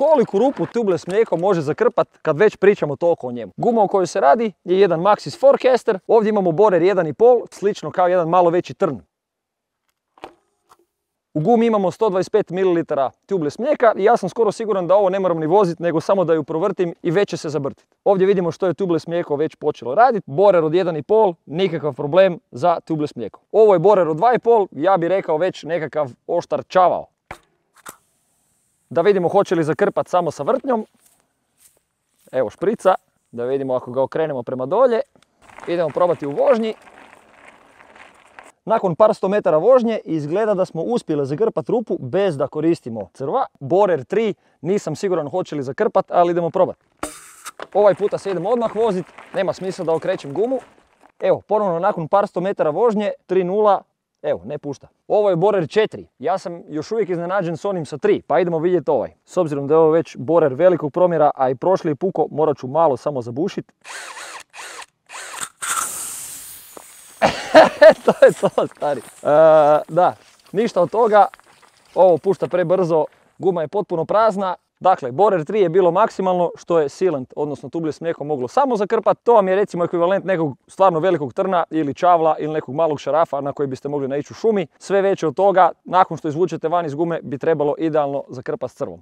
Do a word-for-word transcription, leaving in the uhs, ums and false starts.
koliku rupu tubeless mlijeko može zakrpat kad već pričamo toliko o njemu. Guma o kojoj se radi je jedan Maxxis Forecaster, ovdje imamo borer jedan i pol, slično kao jedan malo veći trn. U gumi imamo sto dvadeset pet mililitara tubeless mlijeka i ja sam skoro siguran da ovo ne moram ni voziti, nego samo da ju provrtim i već će se zabrtiti. Ovdje vidimo što je tubeless mlijeko već počelo raditi. Borer od jedan i pol, nikakav problem za tubeless mlijeko. Ovo je borer od dva i pol, ja bih rekao već nekakav oštar čavao. Da vidimo hoće li zakrpati samo sa vrtnjom. Evo šprica, da vidimo ako ga okrenemo prema dolje. Idemo probati u vožnji. Nakon par sto metara vožnje izgleda da smo uspjeli zakrpati rupu bez da koristimo crva. Borer tri, nisam siguran hoće li zakrpati, ali idemo probati. Ovaj puta se idemo odmah voziti, nema smisla da okrećem gumu. Evo, ponovno nakon par sto metara vožnje, tri nula, evo, ne pušta. Ovo je borer četiri, ja sam još uvijek iznenađen s onim sa tri, pa idemo vidjeti ovaj. S obzirom da je ovo već borer velikog promjera, a i prošli je puko, morat ću malo samo zabušiti. To je to, stari. E, da, ništa od toga, ovo pušta prebrzo, guma je potpuno prazna. Dakle, borer tri je bilo maksimalno što je sealant, odnosno tubeless mlijeko moglo samo zakrpati. To vam je recimo ekvivalent nekog stvarno velikog trna ili čavla ili nekog malog šarafa na koji biste mogli naići u šumi. Sve veće od toga, nakon što izvučete van iz gume, bi trebalo idealno zakrpati s crvom.